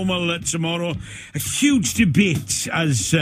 Normal tomorrow. A huge debate has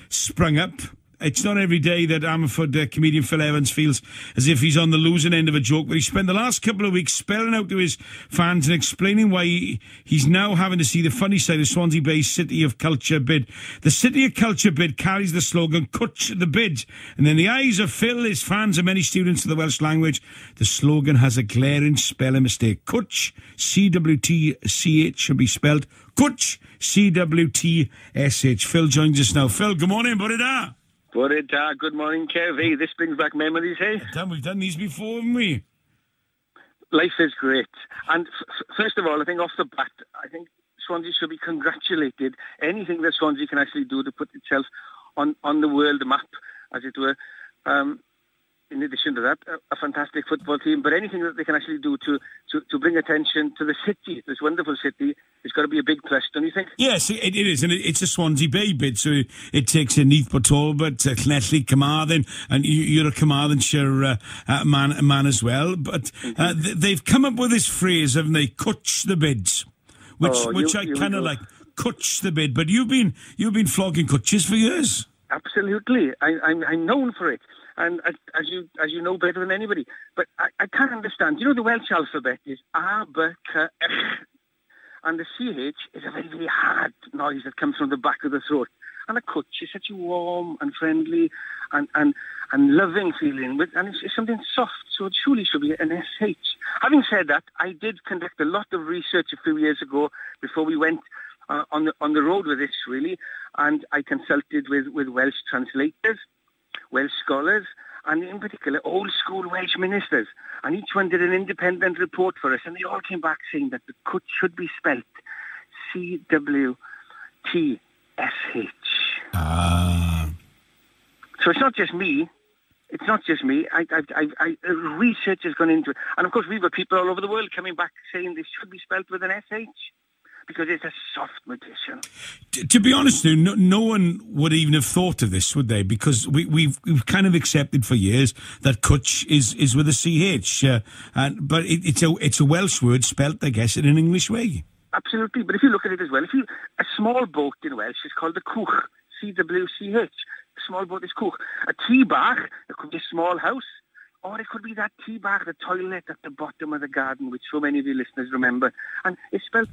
sprung up. It's not every day that Ammanford comedian Phil Evans feels as if he's on the losing end of a joke, but he spent the last couple of weeks spelling out to his fans and explaining why he's now having to see the funny side of Swansea Bay's City of Culture bid. The City of Culture bid carries the slogan, Cwtch the Bid. And in the eyes of Phil, his fans and many students of the Welsh language, the slogan has a glaring spelling mistake. Cwtch, C-W-T-C-H, should be spelled Cwtch, C-W-T-S-H. Phil joins us now. Phil, good morning, bore da. Bore da, good morning, Kev. Hey, this brings back memories, hey? Damn, we've done these before, haven't we? Life is great. And first of all, I think off the bat, I think Swansea should be congratulated. Anything that Swansea can actually do to put itself on the world map, as it were. In addition to that, a fantastic football team, but anything that they can actually do to bring attention to the city, this wonderful city, it's got to be a big plus, don't you think? Yes, it is, and it's a Swansea Bay bid, so it takes in Neath Port Talbot, Llanelli, Carmarthen, and you're a Carmarthenshire man as well, but they've come up with this phrase, haven't they, cwtch the bids, which I kind of like, cwtch the bid, but you've been flogging cwtches for years. Absolutely, I'm known for it. And as you know better than anybody, but I can't understand. You know, the Welsh alphabet is A, B, C, H, and the CH is a very, very hard noise that comes from the back of the throat. And a cwtch is such a warm and friendly and loving feeling, and it's something soft, so it surely should be an SH. Having said that, I did conduct a lot of research a few years ago before we went on the road with this, really, and I consulted with Welsh translators, Welsh scholars, and in particular old school Welsh ministers. And each one did an independent report for us, and they all came back saying that the cwtch should be spelt C-W-T-S-H. Ah. So it's not just me. It's not just me. I research has gone into it. And of course we've got people all over the world coming back saying this should be spelt with an S-H. Because it's a soft magician. To be honest, though, no one would even have thought of this, would they? Because we've kind of accepted for years that cwtch is with a CH, but it's a Welsh word spelt, I guess, in an English way. Absolutely, but if you look at it as well, a small boat in Welsh is called a cwch, C-W-C-H. A small boat is cwch. A tŷ bach, it could be a small house, or it could be that tŷ bach, the toilet at the bottom of the garden, which so many of you listeners remember, and it's spelled.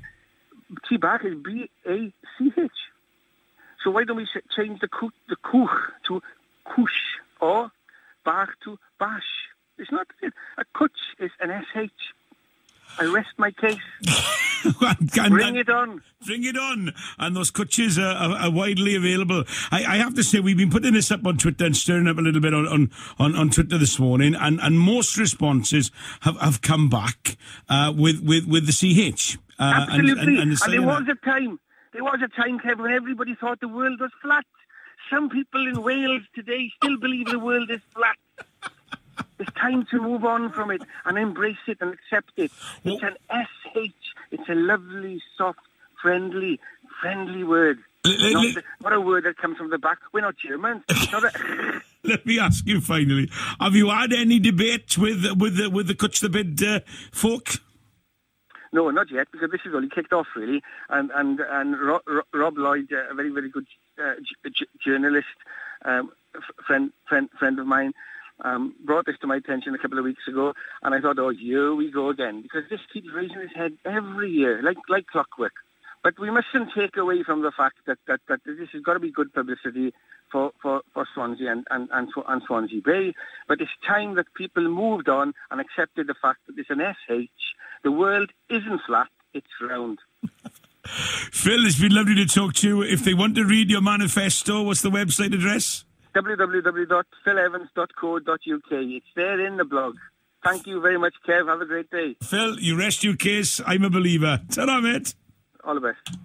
Tŷ bach is B-A-C-H. So why don't we change the cwch to cush or bach to bash? It's not it. A cwtch is an S-H. I rest my case. Bring it on. Bring it on. And those cwtches are widely available. I have to say, we've been putting this up on Twitter and stirring up a little bit on Twitter this morning, and most responses have come back with the CH. Absolutely. And there was a time, Kev, when everybody thought the world was flat. Some people in Wales today still believe the world is flat. It's time to move on from it and embrace it and accept it. It's an SH. It's a lovely, soft, friendly word. Not a word that comes from the back. We're not Germans. Not a... Let me ask you finally: have you had any debate with the Cwtch the Bid folk? No, not yet, because this is only kicked off, really. And Rob Lloyd, a very, very good journalist, friend of mine, brought this to my attention a couple of weeks ago, and I thought, oh, here we go again, because this keeps raising its head every year, like clockwork. But we mustn't take away from the fact that this has got to be good publicity for Swansea and Swansea Bay. But it's time that people moved on and accepted the fact that it's an SH. The world isn't flat, it's round. Phil, it's been lovely to talk to you. If they want to read your manifesto, what's the website address? www.philevans.co.uk. It's there in the blog. Thank you very much, Kev. Have a great day. Phil, you rest your case. I'm a believer. Ta-ra, mate. All the best.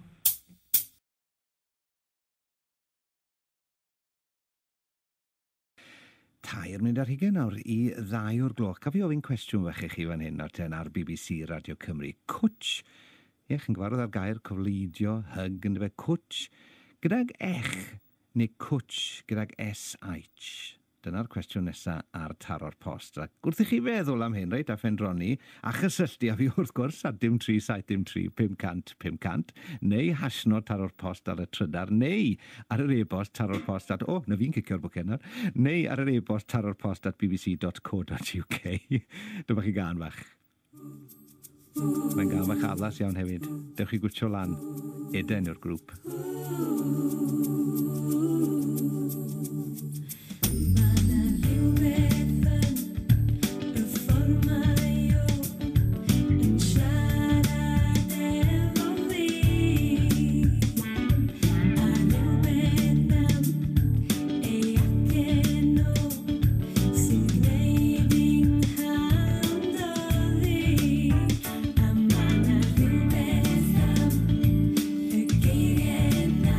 23 nawr i 2 o'r gloch. Caf i ofyn cwestiwn fach i chi fan hyn ar BBC Radio Cymru. Cwtch, ie, chi'n gyfarwydd ar gair cofleidio, hug, yn dyfe, cwtch, gydag ech neu cwtch gydag SH. Dyna'r cwestiwn nesaf ar Taro'r Post. Ac wrth i chi feddwl am hyn, reit, a phendroni, a chysylltu â fi wrth gwrs ar dim 3 7 dim 3 500 500, neu hashnod Taro'r Post ar y trydar, neu ar yr e-bost taro'r post at... O, na fi'n cicio'r bwcen nawr. Neu ar yr e-bost taro'rpost@bbc.co.uk. Dyma chi gân fach. Mae'n gân fach addas iawn hefyd. Dewch i gwtsio lan. Eden yw'r grŵp. Mae 'na rhywbeth yn y ffordd mae o yn siarad efo fi, a rhywbeth am ei acen o sy'n gwneud i 'nghalon dorri, a mae 'na rhywbeth am y geiriau 'na.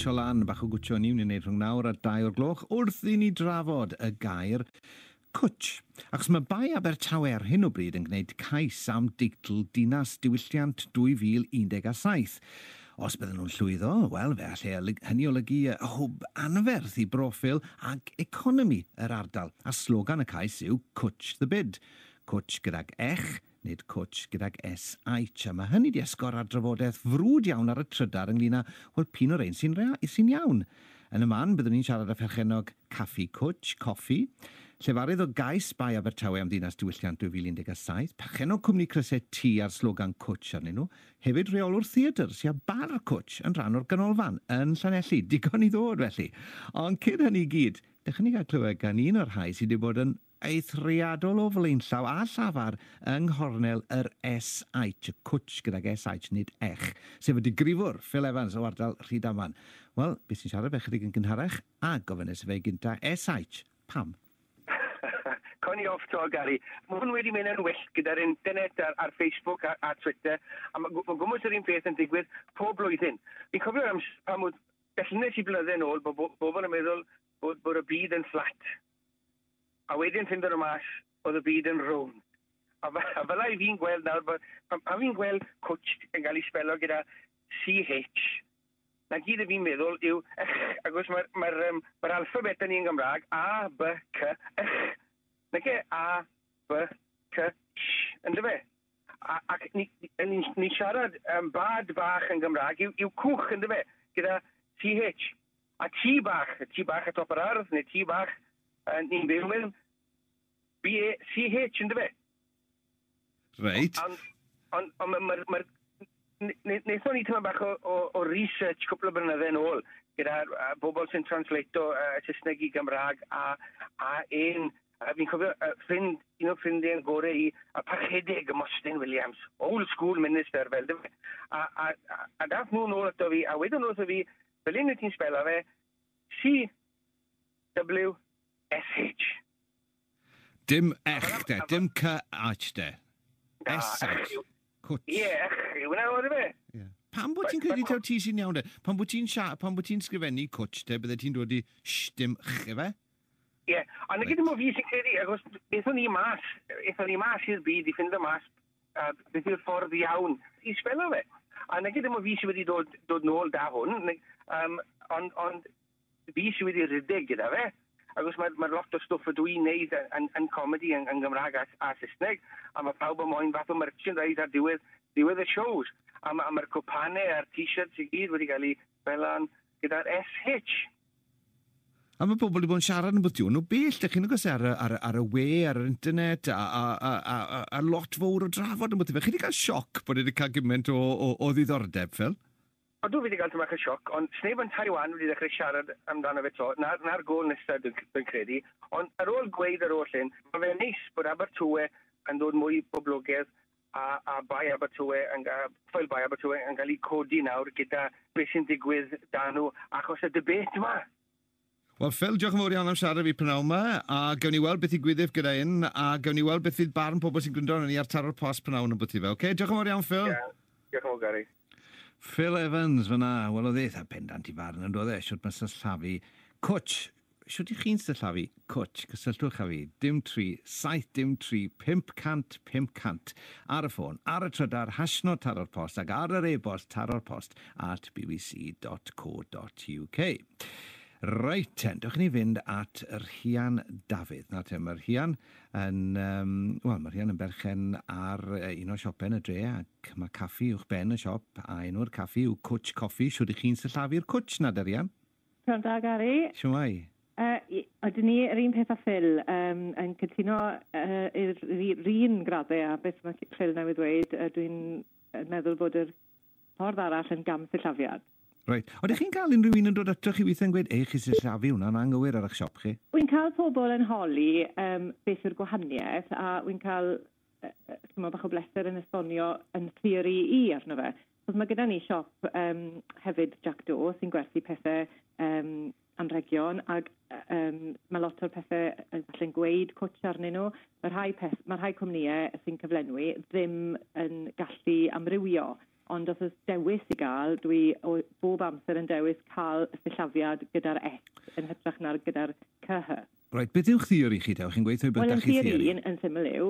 Gwtsio lan, bach o gwtsio ni wneud rhwng nawr a 2 o'r gloch wrth i ni drafod y gair cwtsh. Achos mae Bae Abertawe ar hyn o bryd yn gwneud cais am deitl Dinas Diwylliant 2017. Os bydden nhw'n llwyddo, wel, fe allai hynny olygu hwb anferth i broffil ac economi yr ardal. A slogan y cais yw Cwtch the Bid. Cwtch gydag ech, nid cwtsh gydag SH. A mae hynny 'di esgor ar drafodaeth frwd iawn ar y trydar ynglyn â, wel, p'un o'r rhein sy'n sy'n iawn. Yn y man, byddwn ni'n siarad â pherchennog Caffi Cwtsh, Coffi, llefarydd o gais Bae Abertawe am Ddinas Diwylliant 2017, perchennog cwmni crysau T a'r slogan Cwtsh arnyn nhw, hefyd rheolwr theatr sy â bar Cwtsh yn rhan o'r ganolfan yn Llanelli. Digon i ddod, felly. Ond cyn hynny i gyd, dewch i ni gael clywed gan un o'r rhai sydd wedi bod yn eithriadol o flaenllaw a llafar yng nghornel yr SH, y cwtsh gydag SH nid ech, sef y digrifwr Phil Evans o ardal Rhydaman. Wel, bues i'n siarad fe chydig yn gynharach a gofynnes i fe gynta SH, pam? Con i off 'to, Gary. Mae hwn wedi mynd yn wyllt gyda'r internet ar, ar Facebook a, a Twitter, a mae ma gwmws yr un peth yn digwydd pob blwyddyn. Fi'n cofio'r amser pan oedd bellnes i blynydde yn ôl, bod bobl yn meddwl bod, bod y byd yn fflat. A wedyn ffindo nhw mas oedd y byd yn rownd. A, a fel i fi'n gweld nawr, bod, pan, pan fi'n gweld cwtsh yn cael ei sbelo gyda CH, na gyd y fi'n meddwl yw ych, achos mae'r ma ma alphabet yn ni yn Gymraeg, A, B, C, ych. Nage A, B, C, Sh, ynddo fe? A, ac ni, ni, ni siarad bad bach yn Gymraeg yw, yw cwch, ynddo fe? Gyda CH. A tŷ bach, tŷ bach y top yr ardd, neu tŷ bach ni'n byw mewn B-A-C-H, ynddo fe? Reit. Ond, ond, ond mae'r... Ma, ma, Wnaethon ni tyma bach o, o, o research cwpl o blynydde yn ôl gyda bobl sy'n translato Saesneg i Gymraeg a, a un, a fi'n cofio ffrind, un o ffrindiau'n gorau i, a Parchedig Mostyn Williams, old school minister fel, dy fe. A, a, a, a dath nhw'n ôl ato fi, a wedyn nhw wrtho fi, fel un wyt ti'n sbela fe, C W S H. Dim ech de, dim C H de. S H. Cwtsh. Ie, ech, yw hwnna o'r fe? Ie. Pam bod ti'n credu taw ti sy'n iawn de? Pam bod ti'n pam bod ti'n sgrifennu cwtsh de, bydde ti'n dod i sh dim ch efe? Ie, ond nag dim o fi sy'n credu, achos aethon ni mas, aethon ni mas i'r byd i ffindo mas beth yw'r ffordd iawn i sbelo fe. A nag dim o fi sydd wedi dod, dod nôl da hwn, um, ond, ond fi sydd wedi rhedeg gyda fe. Achos mae, mae lot o stwff ydw i'n neud yn, yn, yn comedy yn, yn Gymraeg a, a Saesneg, a mae pawb yn moyn fath o merchandise ar diwedd, diwedd y shows. A mae'r ma cwpanau a'r t-shirts i gyd wedi cael eu felan gyda'r SH. A mae pobl wedi bod yn siarad yn bwtio nhw bell, dych chi'n agos ar, ar, ar y we, ar yr internet, a, a, a, a, a, a lot fawr o drafod yn bwtio fe. Chi wedi cael sioc bod wedi cael gymaint o, o, o ddiddordeb, Phil? Odw, fi wedi cael tipyn bach o sioc, ond sneb yn Taiwan wedi dechrau siarad amdano fe 'to, na'r, na'r gôl nesaf dwi'n dwi credu. Ond ar ôl gweud ar ôl hyn, mae fe'n neis bod Abertawe yn dod mwy poblogaidd a, a Bae Abertawe yn, Ffoil Bae Abertawe yn cael ei codi nawr gyda beth sy'n digwydd da nhw achos y debate yma. Wel, Phil, diolch yn fawr iawn am siarad fi prynawn yma, a gawn ni weld beth ddigwyddif gyda un, a gawn ni weld beth fydd barn pobl sy'n gwrando arnon ni ar Taro'r Post prynawn yn bwti fe, oce? Okay? Diolch yn fawr iawn, Phil. Yeah. Diolch yn fawr, Gary. Phil Evans fyna, wel oedd e eitha pendant i farn yn doedd e, shwt mae sillafu cwtsh. Shwt i chi'n sillafu cwtsh? Cysylltwch â fi, dim 3, 7 dim 3, 500 500 ar y ffôn, ar y trydar, hashnod taro'r post ac ar yr e-bost taro'r post at bbc.co.uk. Reit ten, dewch i ni fynd at Rhian Dafydd. Na te, mae Rhian yn, um, wel, mae Rhian yn berchen ar un o siopau yn y dre ac mae caffi uwch ben y siop a enw'r caffi yw Cwtch Coffi. Shwd i chi'n sillafu'r cwtch na, Rhian? Prynhawn da, Gary. Shwmae? Ydyn ni yr un peth â Phil, um, yn cytuno i'r un graddau a beth mae Phil newydd ddweud, uh, dwi'n meddwl bod yr ffordd arall yn gam sillafiad. Reit. Odych chi'n cael unrhyw un yn dod atoch chi weithiau'n gweud, ei, chi sillafu hwnna'n anghywir ar eich siop chi? Wy'n cael pobl yn holi um, beth yw'r gwahaniaeth, a wy'n cael uh, bach o bleser yn esbonio yn theori i arno fe. Chos mae gyda ni siop um, hefyd Jack Do sy'n gwerthu pethau um, anrhegion, ac um, mae lot o'r pethau yn falle'n gweud cwtsh arnyn nhw. Mae rhai, peth, mae rhai cwmnïau sy'n cyflenwi ddim yn gallu amrywio. Ond os oes dewis i gael, dwi o, bob amser yn dewis cael y sillafiad gyda'r S yn hytrach na'r gyda'r CH. Reit, beth yw'ch theori chi, te? Chi'n gweithio bod Wel, da yn chi theori theori. yn syml yw,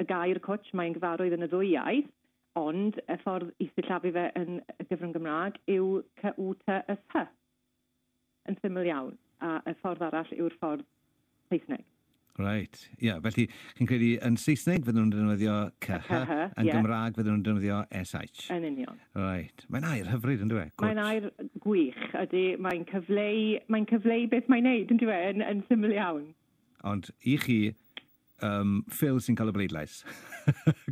y gair cwtch, mae'n gyfarwydd yn y ddwy iaith, ond y ffordd i sillafu fe yn y gyfrwng Gymraeg yw C-U-T-S-H. Yn syml iawn. A y ffordd arall yw'r ffordd Saesneg. Reit, ie. Yeah, felly, chi'n credu yn Saesneg fydden nhw'n defnyddio CH, CH, yn ie. Gymraeg fydden nhw'n defnyddio SH. Yn union. Reit. Mae'n air hyfryd, yn dweud? Mae'n air gwych, ydy. Mae'n cyfleu beth mae'n neud, yn dweud, yn syml iawn. Ond i chi, Phil sy'n cael y bleidlais.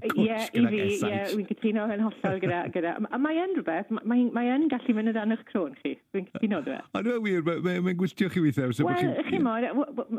Ie, i fi, ie, wy'n cytuno yn hollol gyda. A mae yn rhywbeth, mae yn gallu mynd o dan eich crôn chi. Dwi'n cytuno, dwi. Ond dwi'n wir, mae'n gwylltio chi weithiau. So Wel, chi mod,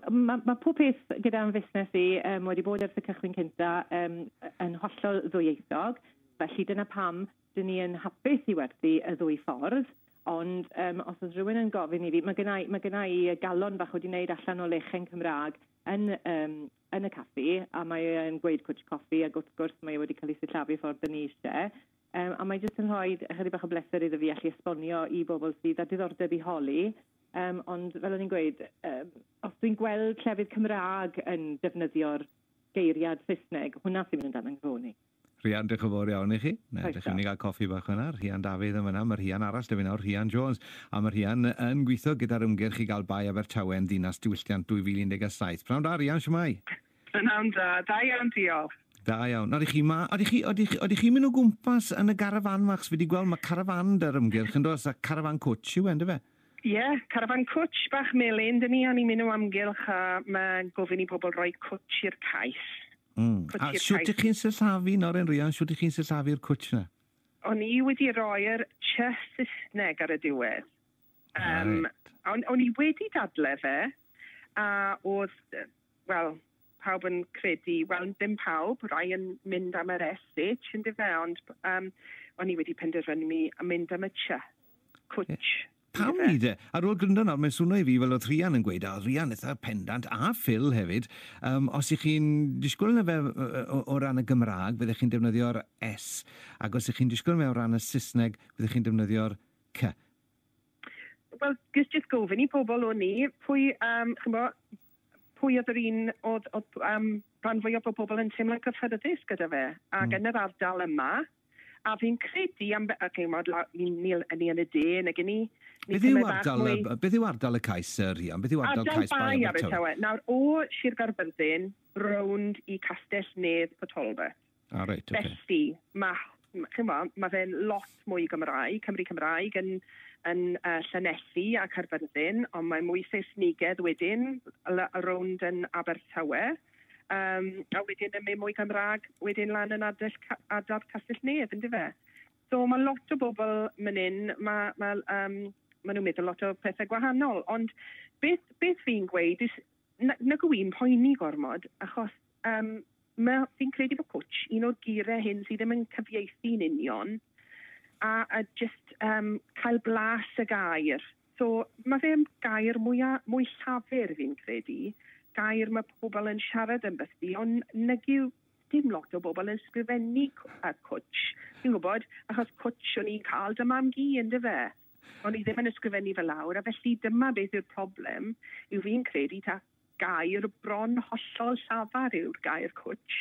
mae pob peth gyda'n fusnes i wedi bod ers y cychwyn cynta yn hollol ddwyieithog, felly dyna pam dyn ni yn hapus i werthu y ddwy ffordd, ond os oes rhywun yn gofyn i fi, mae gynna i galon bach wedi wneud allan o lechen Cymraeg yn y caffi, a mae e'n gweud cwtch coffi, ac wrth gwrs mae e wedi cael ei sillafu ffordd dyn ni eisiau. A mae jyst yn rhoi ychydig bach o bleser iddo fi allu esbonio i bobl sydd â diddordeb i holi. Ond fel o'n i'n gweud, os dwi'n gweld llefydd Cymraeg yn defnyddio'r geiriad Saesneg, hwnna sy'n mynd yn dan yng nghrôn i. Rhian, diolch yn fawr iawn i chi. Na, Croeso. dych chi'n mynd i gael coffi bach yna. Rhian Dafydd yn fyna, mae Rhian arall, dyf nawr, Rhian Jones. A mae Rhian yn gweithio gyda'r ymgyrch i gael Bae Abertawe yn ddinas diwylliant 2017. Pnawn da, Rhian, siwmai? Pnawn da, da iawn, diolch. Da iawn. Oedych chi ma, oedych chi'n mynd o gwmpas yn y garafan ma, achos fi wedi gweld mae carafan dy'r ymgyrch yn dos, a carafan cwtch yw e, yndyfe? Ie, yeah, carafan cwtch bach melyn, dyn ni, a ni'n mynd o amgylch a mae gofyn i pobl roi cwtch i'r cais. Cwtch A i'r siwt cais. ych chi'n sillafu, Noren Rhian, siwt ych chi'n sillafu'r cwtch na? O'n i wedi roi'r ch Saesneg ar y diwedd. Reit. O'n i wedi dadle fe, a oedd, wel, pawb yn credu, wel, ddim pawb, rai yn mynd am yr SH, yn fe, ond o'n i wedi penderfynu a mynd am y ch, cwtch. Pam ni de? Ar ôl gryndo nawr, mae'n swnio i fi fel oedd Rhian yn gweud, a oedd Rhian eitha pendant, a Phil hefyd, os ych chi'n disgwyl yna fe o ran y Gymraeg, fyddech chi'n defnyddio'r S, ac os ych chi'n disgwyl fe o ran y Saesneg, fyddech chi'n defnyddio'r C. Wel, just gofyn i pobl o'n i, pwy, ch'mbo, pwy oedd yr un oedd rhan fwyaf o bobl yn teimlo'n cyffyrddus gyda fe, ac yn yr ardal yma, a fi'n credu am, ac ch'mod, ni yn y de, nag ni. Ni Beth yw tymed bach ardal, mwy- beth yw ardal y cais, Rhian? Beth yw ardal, Ardal cais Bae Bae Abertawe? Abertawe. Nawr, o Sir Gaerfyrddin, rownd i Castell Nedd Port Talbot. Ah, reit, oce. Felly, mae fe'n lot mwy Gymraeg, Cymru Cymraeg yn Llanelli a Caerfyrddin, ond mae mwy Saesnigedd wedyn, rownd yn Abertawe. A wedyn yn mynd mwy Gymraeg, wedyn lan yn ardal Castell Nedd, ynddo fe? So mae lot o bobl mynd hyn, ma nhw'n meddwl lot o pethau gwahanol, ond beth fi'n gweud is, nag yw i'n poeni gormod, achos fi'n credu bod cwtch un o'r geiriau hyn sydd ddim yn cyfieithu'n union, a just cael blas y gair. So mae fe'n gair mwy llafur fi'n credu, gair mae pobl yn siarad yn bythdi, ond nag yw dim lot o bobl yn sgrifennu cwtch. Fi'n gwybod, achos cwtch o'n i'n cael dy mam-gu, ynddo fe? O'n i ddim yn ysgrifennu fel lawr, a felly dyma beth yw'r problem, yw fi'n credu ta gair bron hollol llafar yw'r gair cwtch.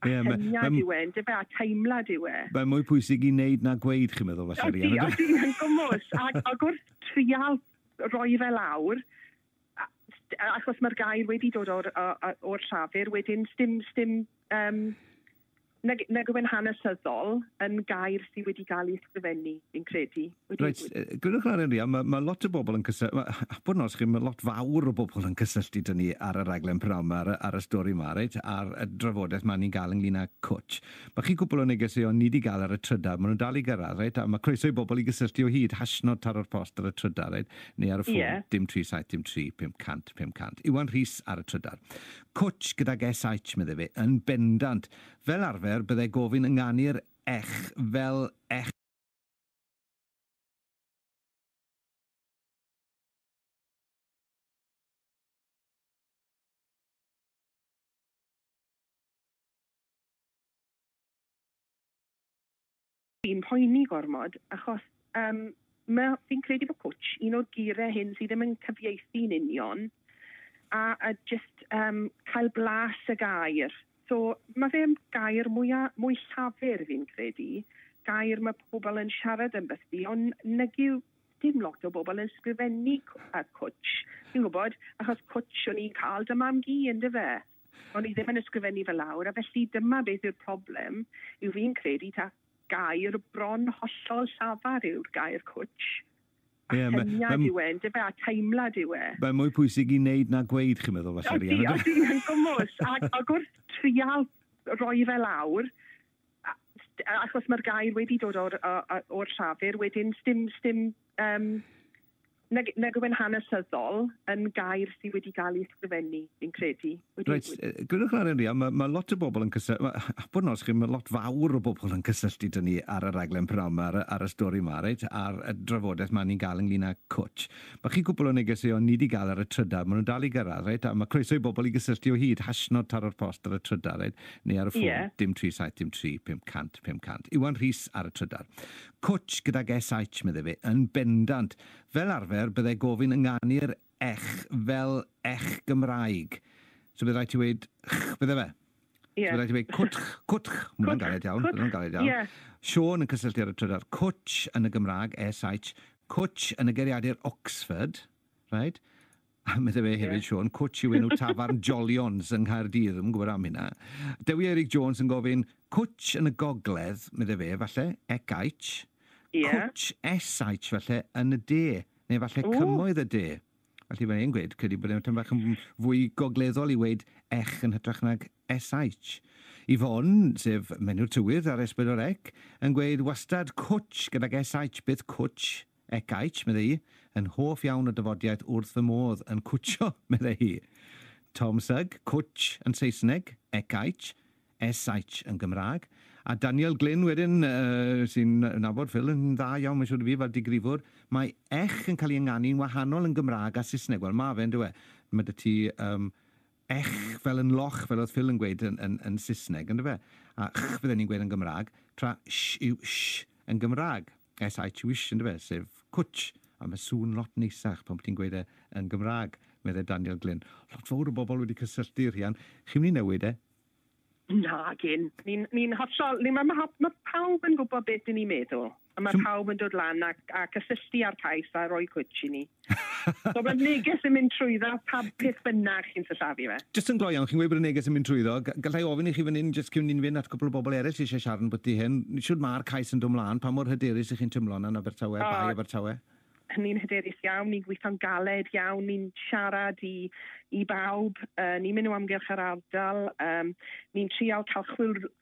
A Ie, syniad yw e, yndyfe, a teimlad yw e. Mae'n mwy pwysig i wneud na gweud, chi'n meddwl, falle, Ydy, Rhian? ydy, yn gwmws. Ac wrth trial roi fe lawr, achos mae'r gair wedi dod o'r llafur, wedyn sdim, nag yw e'n hanesyddol yn gair sydd wedi cael ei ysgrifennu, fi'n credu. Reit, gwrandwch ar Rhian, mae lot o bobl yn cysylltu, bod yn onest chi, mae lot fawr o bobl yn cysylltu dyn ni ar y raglen pnawn 'ma, ar y stori yma, reit, ar y drafodaeth ma ni'n gael ynglyn â cwtch. Mae chi cwpl o negeseuon ni wedi gael ar y trydar, maen nhw'n dal i gyrraedd, reit, a mae croeso i bobl i gysylltu o hyd, hashnod taro'r post ar y trydar, reit, neu ar y ffôn, dim 3 7 dim 3 500 500. Iwan Rhys ar y trydar. Cwtch gydag SH, medde fe, yn bendant. Fel arfer, byddai gofyn ynganu'r ech fel ech Fi'n poeni gormod, achos fi'n credu bod cwtch un o'r geiriau hyn sydd ddim yn cyfieithu'n union, a just cael blas y gair. So mae fe'n gair mwy llafur fi'n credu, gair mae pobl yn siarad yn bythdi, ond nag yw dim lot o bobl yn sgrifennu cwtch. Fi'n gwybod, achos cwtch o'n i'n cael dy mam-gu, yndyfe? O'n i ddim yn ysgrifennu fel lawr, a felly dyma beth yw'r problem, yw fi'n credu ta gair bron hollol llafar yw'r gair cwtch. A syniad yw e, yndyfe, a teimlad yw e. Mae'n mwy pwysig i wneud na gweud, chi'n meddwl, falle, Rhian? Ydy, yn gwmws. Ac wrth trial roi fe lawr, achos mae'r gair wedi dod o'r llafur, wedyn sdim nag yw e'n hanesyddol yn gair sydd wedi cael ei ysgrifennu, fi'n credu. Reit, gwrandwch ar Rhian, mae lot o bobl yn cysylltu, bod yn onest chi, mae lot fawr o bobl yn cysylltu dyn ni ar y raglen pnawn yma, ar y stori yma, reit, ar y drafodaeth ma ni'n gael ynglyn â cwtch. Mae chi gwbl o negeseuon ni wedi gael ar y trydar, maen nhw'n dal i gyrraedd, reit, a mae croeso i bobl i gysylltu o hyd, hashnod taro'r post ar y trydar, reit, neu ar y ffôn, dim 3 7 dim 3 500 500. Iwan Rhys ar y trydar. Cwtch gydag SH, meddai fe, yn bendant. Fel arfer, byddai gofyn ynganu'r ech fel ech Gymraeg. So byddai rhaid ti weud ch, bydde fe? Yeah. So byddai rhaid ti weud cwtch, cwtch. Mae hwnna'n galed iawn, hwnna'n galed iawn. Yeah. Sean yn cysylltu ar y trydar. Cwtch yn y Gymraeg, SH. Cwtch yn y geiriadur Oxford, right? A meddai fe hefyd, Sean, cwtch yw enw tafarn Jolions yng Nghaerdydd, ddim yn gwybod am hynna. Dewi Eric Jones yn gofyn, cwtch yn y gogledd, meddai fe, falle, ECH. Yeah. Cwtch SH, falle, yn y de, neu falle cymoedd y de. Felly mae'n ein gweud, credu bod e'n bach yn fwy gogleddol i weud ech yn hytrach nag SH. Yvonne, sef menyw'r tywydd ar S4C, yn gweud wastad cwtch gydag SH, bydd cwtch, ECH, meddai hi, yn hoff iawn o dyfodiaeth wrth fy modd yn cwtio, meddai hi. Tom Sugg, cwtch yn Saesneg, ECH, SH yn Gymraeg. A Daniel Glyn wedyn, sy'n nabod Phil yn dda iawn, mae'n siŵr i fi, fel digrifwr, mae ech yn cael ei ynganu'n wahanol yn Gymraeg a Saesneg. Wel, mae fe, yndyw e? Mae dy ti ech fel yn loch, fel oedd Phil yn gweud yn Saesneg, yndyw e? A ch fydden ni'n gweud yn Gymraeg, tra sh yw sh yn Gymraeg. S-H yw sh, yndyw e? Sef cwtch. A mae sŵn lot neisach pan ti'n gweud e yn Gymraeg, meddai Daniel Glyn. Lot fawr o bobl wedi cysylltu, Rhian. Chi'n mynd i newid e? Na, gyn. Ni'n hollol... Mae pawb yn gwybod beth ni'n meddwl. A mae pawb yn dod lan a cysylltu ar cais a rhoi cwtch i ni. So mae'r neges yn mynd trwyddo pa beth bynnag chi'n sillafu fe. Jyst yn gloi iawn, chi'n gweud bod y neges yn mynd trwyddo. Gallai ofyn i chi fan hyn, jyst cyn ni'n fynd at cwpl o bobl eraill eisiau siarad yn bwyty hyn. Siwr mae'r cais yn dod mlaen, pa mor hyderus ych chi'n teimlo yna yn Abertawe, Bae Abertawe? Ni'n hyderus iawn, ni'n gweithio'n galed iawn, ni'n siarad i bawb, ni'n mynd o amgylch yr ardal, ni'n trial cael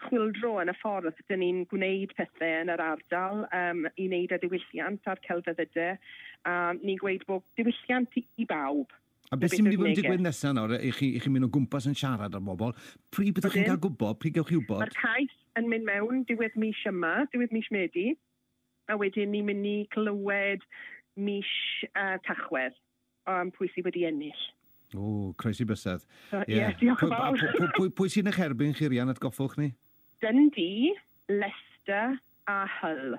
chwyldro yn y ffordd dyn ni'n gwneud pethau yn yr ardal i wneud y diwylliant a'r celfyddydau, a ni'n gweud bod diwylliant i bawb. A beth sy'n mynd i fod yn digwydd nesaf nawr, i chi'n mynd o gwmpas yn siarad ar bobl, pryd byddwch chi'n cael gwybod, pryd gewch chi wybod? Mae'r cais yn mynd mewn diwedd mis yma, diwedd mis Medi, a wedyn ni'n mynd i clywed mis Tachwedd, pwy sydd wedi ennill. O, croesi bysedd. Ie, diolch yn fawr. Pwy sy'n eich erbyn chi, Rhian, atgoffwch ni? Dundee, Leicester a Hull.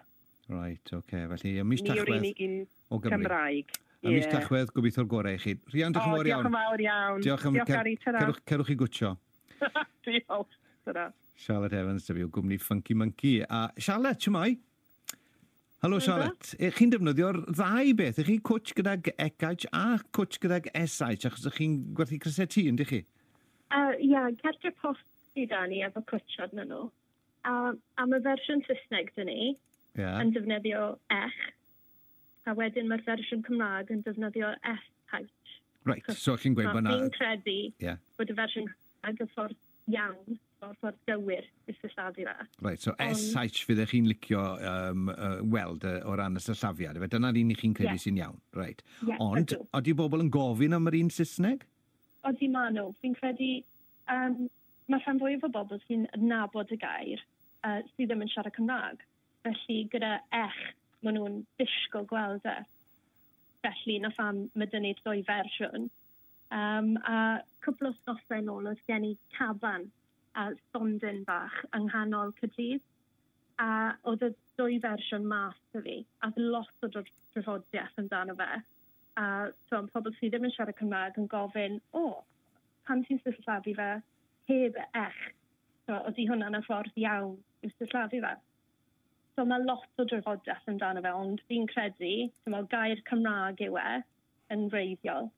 Right, oce. Felly, ym mis Tachwedd Ni yw'r unig un o Gymru. Cymraeg. Ym mis Tachwedd, gobeithio'r gorau i chi. Rhian, diolch yn fawr iawn. Diolch yn fawr iawn. Diolch am... Diolch, Gary, Cerwch chi gwtio. Diolch, tara. Charlotte Evans, dyf i o gwmni Funky Monkey. A Charlotte, shwmae? Helo Charlotte, chi'n defnyddio'r ddau beth, ych chi cwtch gydag ECH a cwtch gydag SH, achos ych chi'n gwerthu crysau T, yndych chi? Ie, cartre post sydd da ni efo cwtch arnyn nhw. A mae fersiwn Saesneg dyn ni yn defnyddio ech, a wedyn mae'r fersiwn Cymraeg yn defnyddio SH. Reit, so chi'n gweud bod na... Fi'n credu bod y fersiwn Cymraeg y ffordd iawn, o'r ffordd gywir i sillafu fe. Reit, so SH fyddech chi'n licio weld o ran y sillafiad. Dyna'r un i chi'n credu sy'n iawn. Reit. Ond, oeddi bobl yn gofyn am yr un Saesneg? Oeddi ma nhw. Fi'n credu, mae rhan fwyaf o bobl sy'n adnabod y gair sydd ddim yn siarad Cymraeg. Felly, gyda ech, maen nhw'n disgwyl gweld e. Felly, na pham mae dyn ni'r ddwy fersiwn. A cwpl o wythnosau nôl oedd gen i caban a stondin bach yng nghanol Caerdydd. A oedd y dwy fersiwn mas 'da fi, a oedd lot o drafodiaeth amdano fe. A so, pobl sydd ddim yn siarad Cymraeg yn gofyn, o, pam ti'n sillafu fe heb y ech? So, ydy hwnna'n y ffordd iawn i'w sillafu fe? So mae lot o drafodaeth amdano fe, ond fi'n credu, ti'n gair Cymraeg yw e yn wreiddiol.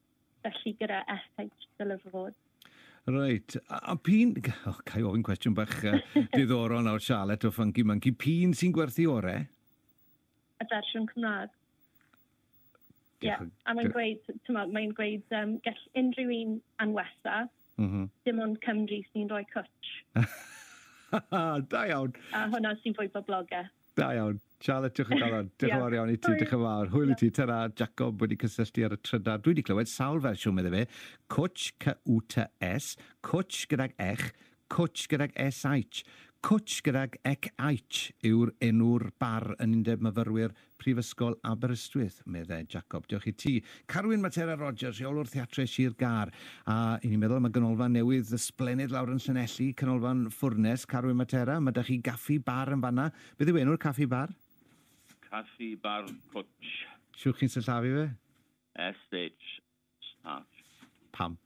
Felly gyda SH dyle fe fod. Reit. A p'un... Oh, ga i ofyn cwestiwn bach diddorol nawr, Charlotte o Funky Monkey. P'un sy'n gwerthu orau? Y fersiwn Cymraeg. Ie, yeah. A mae'n gweud, ti'n mae'n gweud, gall unrhyw un anwesa, dim ond Cymru sy'n rhoi cwtch. Da iawn. A hwnna sy'n fwy boblogaidd. Da iawn. Charlotte, diolch yn galon. Diolch yn fawr iawn i ti, diolch yn fawr. Hwyl i ti. Tara, Jacob wedi cysylltu ar y trydar. Dwi wedi clywed sawl fersiwn, medde fe. Cwtch, C-U-T-S, cwtch gydag ech, cwtch gydag S-H. Cwtch gydag ec-H yw'r enw'r bar yn Undeb Myfyrwyr Prifysgol Aberystwyth, meddai Jacob. Diolch i ti. Carwyn Matera Rogers, rheolwr Theatrau Sir Gâr. A i ni'n meddwl am y ganolfan newydd ysblennydd lawr yn Llanelli, canolfan Ffwrnes, Carwyn Matera. Mae 'da chi gaffi bar yn fanna. Beth yw enw'r caffi bar? Caffi Bar Cwtch. Shwt chi'n sillafu fe? S-H. H. Pam?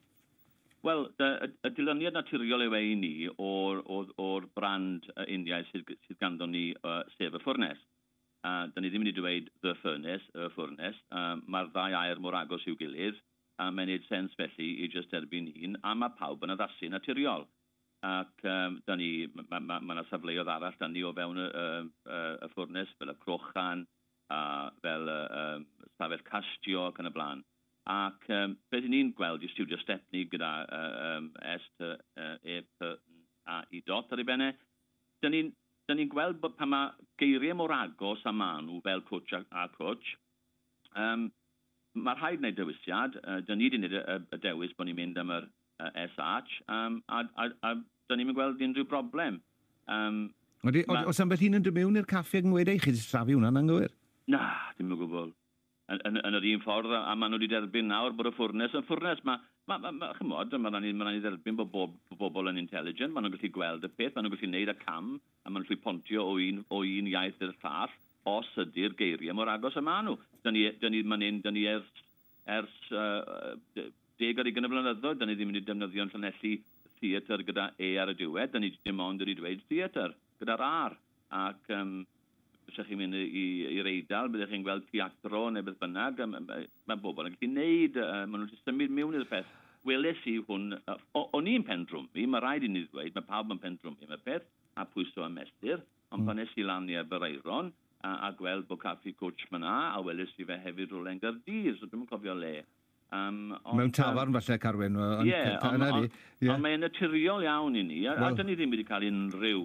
Wel, y dilyniad naturiol yw e i ni o'r brand Indiaidd sydd ganddo ni, sef y Ffwrnes. Da ni ddim wedi dweud The Furnace, y Ffwrnes. Mae'r ddau air mor agos i'w gilydd, a mae'n neud sens felly i jyst derbyn un, a mae pawb yn addasu naturiol. Ac da ni, mae ma yna safleoedd arall da ni o fewn y ffwrnes, fel y Crochan, a fel y stafell castio ac yn y blaen. Ac beth 'y ni'n gweld i Studio Stepney gyda S, T, E, P, N, A, I dot ar ei benne, dyn ni'n ni gweld bod pan mae geiriau mor agos a maen nhw fel cwtch a cwtch, mae rhaid wneud dewisiad. Dyn ni wedi gwneud y dewis bod ni'n mynd am yr SH, a dyn ni'n gweld unrhyw broblem. Odi, oes ambell un yn dod mewn i'r caffi ac yn gweud, ei, chi wedi sillafu hwnna'n anghywir? Na, dim o gwbl. Yn yr un ffordd, a maen nhw wedi derbyn nawr bod y ffwrnes yn ffwrnes. Ma, chymod, mae rhaid ni dderbyn bod bobl yn intelligent, maen nhw'n gallu gweld y peth, maen nhw'n gallu gwneud y cam, a maen nhw'n gallu pontio o un iaith i'r llall, os ydy'r geiriau mor agos y maen nhw. Dyn ni ers 20 o flynyddoedd, dyn ni ddim wedi defnyddio'n Llanelli theatr gyda E ar y diwedd, dyn ni dim ond wedi dweud theatr gyda'r R. Ac os chi'n mynd i'r Eidal, byddwch chi'n gweld teatro neu beth bynnag, mae bobl yn gallu neud, maen nhw'n symud mewn i'r peth. Weles i hwn, o'n i'n pendrwmi, mae rhaid i ni ddweud, mae pawb yn pendrwmi am y peth, a pwyso a mesur, ond pan es i lan i Aberaeron, a gweld bod caffi Cwtch fyna, a weles i fe hefyd rhywle yn Gaerdydd, so dwi'm yn cofio le. Ond, mewn tafarn falle, Carwyn. Ie, ond mae'n naturiol iawn i ni, a dyn ni ddim wedi cael unrhyw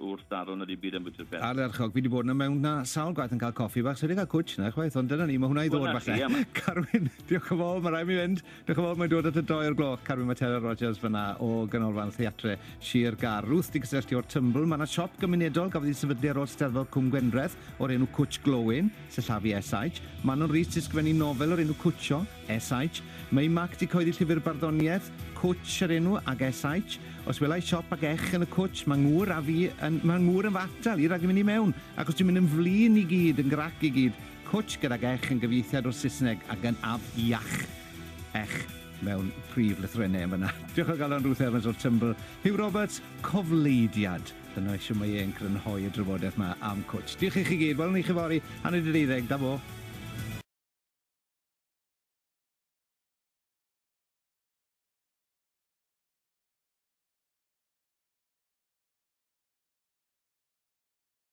wrthdaro na dim byd am bwyty'r peth. Ardderchog, fi wedi bod yna mewn na sawl gwaith yn cael coffi bach, so wedi cael cwtch na chwaith, ond dyna ni, mae hwnna i ddod falle. Carwyn, diolch yn fawr, mae rhaid mi fynd. Diolch yn fawr, mae'n dod at y 2 o'r gloch. Carwyn Matera Rogers fyna o Ganolfan Theatre Sir Gâr. Ruth di gysylltu o'r Tymbl. Mae yna siop gymunedol gafodd ei sefydlu ar ôl Steddfod Cwm Gwendraeth o'r enw Cwtch Glowin, sillafu SH. Manon Rhys di sgrifennu nofel o'r enw Cwtsio, SH. Mae Mac di cyhoeddi llyfr barddoniaeth, Cwtch yr enw ag SH. Os welai siop ag ech yn y cwtch, mae ngŵr a fi, yn, mae ngŵr yn fy atal i rhag i mynd i mewn, achos dwi'n mynd yn flin i gyd, yn grac i gyd. Cwtch gydag ech yn gyfieithiad o'r Saesneg ac yn afiach. Ech mewn prif lythrennau yn fyna. Diolch o galon Ruth Evans o'r Tymbl. Hugh Roberts, cofleidiad. Dyna eisiau mae e'n crynhoi y drafodaeth yma am cwtch. Diolch i chi gyd. Welwn ni chi fory, 11:30. Da bo.